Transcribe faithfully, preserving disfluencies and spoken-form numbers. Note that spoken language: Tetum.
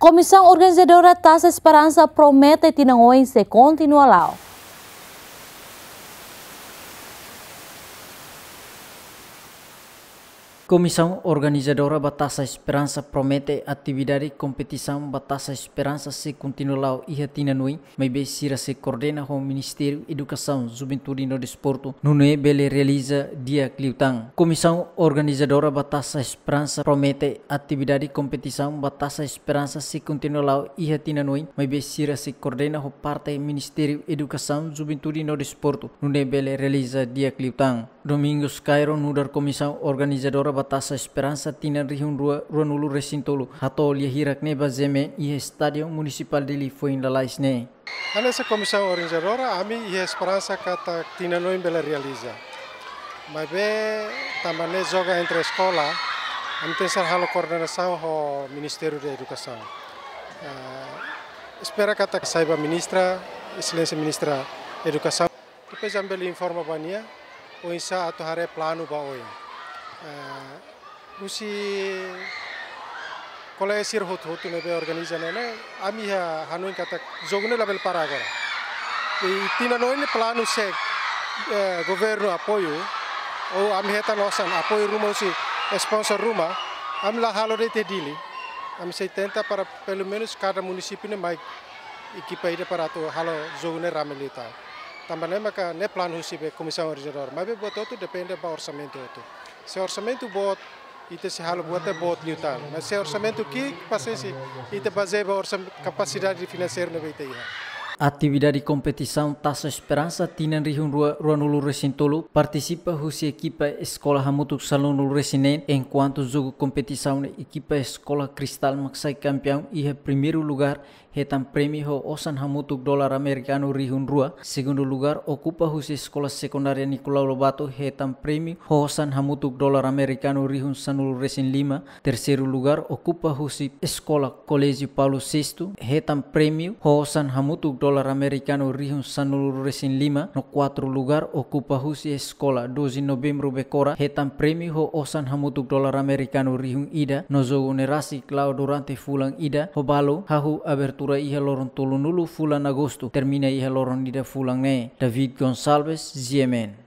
Komisaun organizadora Taça Esperança promete tinan oin sei kontinua la'o. Komisaun organizadora ba Taça Esperança promete atividade kompetisaun ba Taça Esperança sei kontinua la'o iha tinan oin, maibé sira sei koordena ho Ministériu Edukasaun, Juventude no Desportu, nune'e bele realiza di'ak liután. Komisaun organizadora ba Taça Esperança promete atividade kompetisaun ba Taça Esperança sei kontinua la'o iha tinan oin, maibé sira sei koordena ho parte Ministériu Edukasaun, Juventude no Desportu, nune'e bele realiza di'ak liután. Domingos Cairo, nu'udar komisaun organizadora ba Taça Esperança tinan rihun rua ruanulu resin tolu, hato'o lia hirak ne'e ba G M N iha Estádiu Munisipál Dili foin lalais ne'e. Hanesan komisaun organizadora, ami iha esperansa katak tinan oin bele realiza. Maibé tanba ne'e joga entre eskola, ami tenke halo koordenasaun ho Ministériu Edukasaun. Eh, espera katak sai ba ministra, Exelénsia Ministra Edukasaun. Depois ami bele informa ba nia oinsá atu haree planu ba oin. Eh, husi kolega sira hotu-hotu ne'ebé organiza ne'e, ne'e, ami iha hanoin katak jogu ne'e labele para agora. I tinan oin ne'e planu se, eh, governu apoiu, ou ami hetan osan apoiu ruma husi sponsor ruma, ami la halo de'it iha Dili. Ami sei tenta para pelumenus kada munisípiu ne'e mai ekipa ida para atu halo jogu ne'e rame liután. Tanba ne'e maka ne'e planu husi be komisaun organizadora. Maibé buat hotu depende ba orsamentu hotu. Se orsamentu boot, ita sei halo buat ne'e boot liután. Mas se orsamentu ki'ik, pasiénsia, ita bazeia ba orsam-, kapasidade finanseira ne'ebé ita iha. Atividade kompetisaun Taça Esperança tinan rihun rua ruanulu resin tolu partisipa husi ekipa eskola hamutuk sanulu resin neen, enkuantu jogu kompetisaun ne'e ekipa eskola Cristal mak sai kampiaun iha primeiru lugár, hetan prémiu ho osan hamutuk dolar amerikanu rihun rua. Segundu lugár okupa husi Eskola Sekundária Nicolau Lobato, hetan prémiu ho osan hamutuk dolar amerikanu rihun sanulu resin lima. Terseiru lugár okupa husi Eskola Koléjiu Paulo Sexto, hetan prémiu ho osan hamutuk dolar amerikanu rihun sanulu resin lima. No kuartu lugár okupa husi Eskola Doze Novembru Becora, hetan prémiu ho osan hamutuk dolar amerikanu rihun ida. No jogu ne'e rasik la'o durante fulan ida, ho balu hahú abertura iha loron tolunulu fulan Agostu, termina iha loron ida fulan ne'e. David Gonçalves, G M N.